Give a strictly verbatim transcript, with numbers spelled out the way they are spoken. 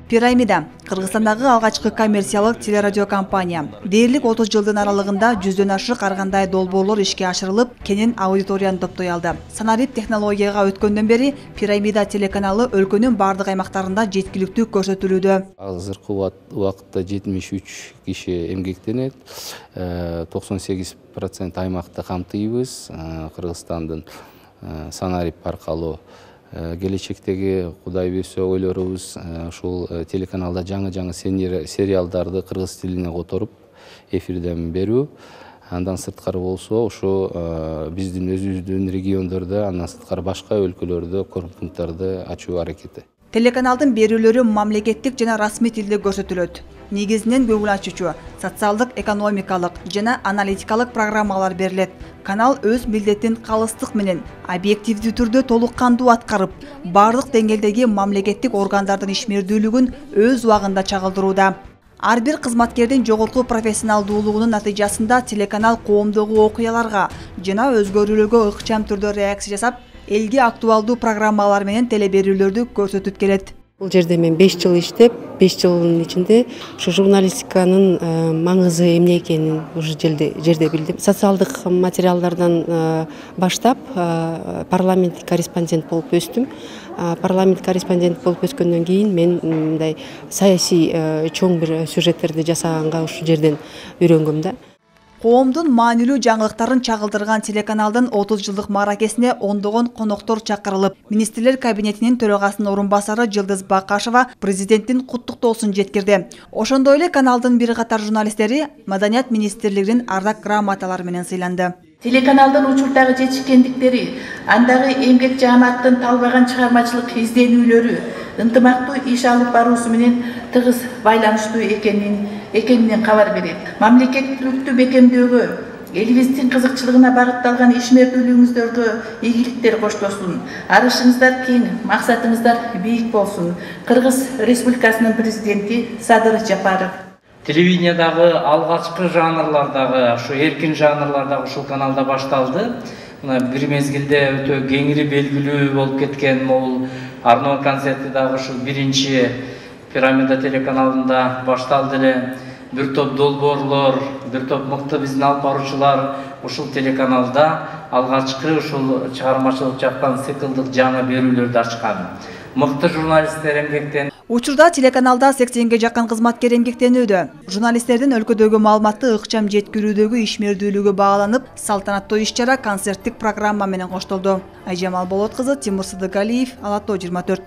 Пирамида — Кыргызстандагы алгачкы коммерциялык телерадио компания. Дээрлик отуз жылдын аралыгында жүздөн ашык ар кандай долбоорлор ишке ашырылып, кенен аудиторияны топтой алды. Санарип технологияга өткөндөн бери Пирамида телеканалы өлкөнүн бардык аймактарында жеткиликтүү көрсөтүлүүдө. Азыркы убакытта жетимиш үч киши эмгектенет, токсон сегиз процент аймакты камтыйбыз. Кыргызстандын Санарип аркылуу келечектеги Кудай буйрса ойлорубуз ушул телеканалда жаңы-жаңы сериалдарды кыргыз тилине которуп эфирден берүү. Андан сырткары болсо ушу биздин өзүбүздүн региондордо, андан сырткары башка өлкөлөрдө корпункттарды ачуу аракети. Телеканалдын берүүлөрү мамлекеттик жана расмий тилде көрсөтүлөт. Негизинен көңүл ачуучу, социалдык, экономикалык жана аналитикалык программалар берилет. Канал өз милдетин калыстык менен объективдүү түрдө толук кандуу аткарып, бардык деңгээлдеги мамлекеттик органдардын ишмердүүлүгүн өз убагында чагылдырууда. Ар бир кызматкердин жогорку профессионалдуулугунун натыйжасында телеканал коомдогу окуяларга жана өзгөрүүлөргө ыкчам түрдө реакция жасап, элге актуалдуу программалар менен телеберүүлөрдү көрсөтүп келет. Бул жерде мен беш жыл иштеп, беш жылдын ичинде ушу журналистиканын маңызы эмне экенин уже жерде билдим. Социалдык материалдардан баштап парламенттик корреспондент болуп өстүм. Парламент корреспондент болуп өскөндөн кийин мен мындай саясий чоң бир сюжеттерди жасаганга ушул жерден үйрөнгөм да. Коомдун маанилүү жаңылыктарын чагылдырган телеканалдын отуз жылдык мааракесине ондогон коноктор чакырылып, министрлер кабинетинин төрагасынын орун басары Жылдыз Бакашева президенттин куттуктоосун жеткирди. Ошондой эле каналдын бир катар журналисттери Маданият министрлигинин ардак грамоталары менен сыйланды. Телеканалдын учурдагы жетишкендиктери, андагы эмгек жааматтын талбаган чыгармачылык изденүүлөрү, ынтымактуу иш алып баруусу менен тыгыз байланыштуу экенин экенинен кабар берет. Мамлекеттүүлүктү бекемдөөгө, элибиздин кызыкчылыгына багытталган ишмердүүлүгүңүздөргө ийгиликтер коштосун. Арышыңыздар кең, максатыңыздар бийик болсун. Кыргыз Республикасынын президенти Садыр Жапаров. Телевидениядагы алгачкы жанрлардагы, ушу эркин жанрлардагы ушул каналда башталды. Мына бир мезгилде өтө кеңири белгилүү болуп кеткен могул Арнон концерти дагы ушул биринчи Пирамида телеканалында башталды эле. Бир топ долбоорлор, бир топ мыкты биздин алып баруучулар ушул телеканалда алгачкы ушул чыгармачылык жактан циклдык жаңы берүүлөрдү ачкан. Мыкты журналисттер эмгектен. Учурда телеканалда сексенге жакын кызматкер эмгектенүүдө. Журналисттердин өлкөдөгү маалыматты ыкчам жеткирүүдөгү ишмердүүлүгү бааланып, салтанаттуу иш-чара концерттик программа менен коштолду. Айжамал Болот кызы, Тимур Сыдыгалиев, Ала тоо жыйырма төрт.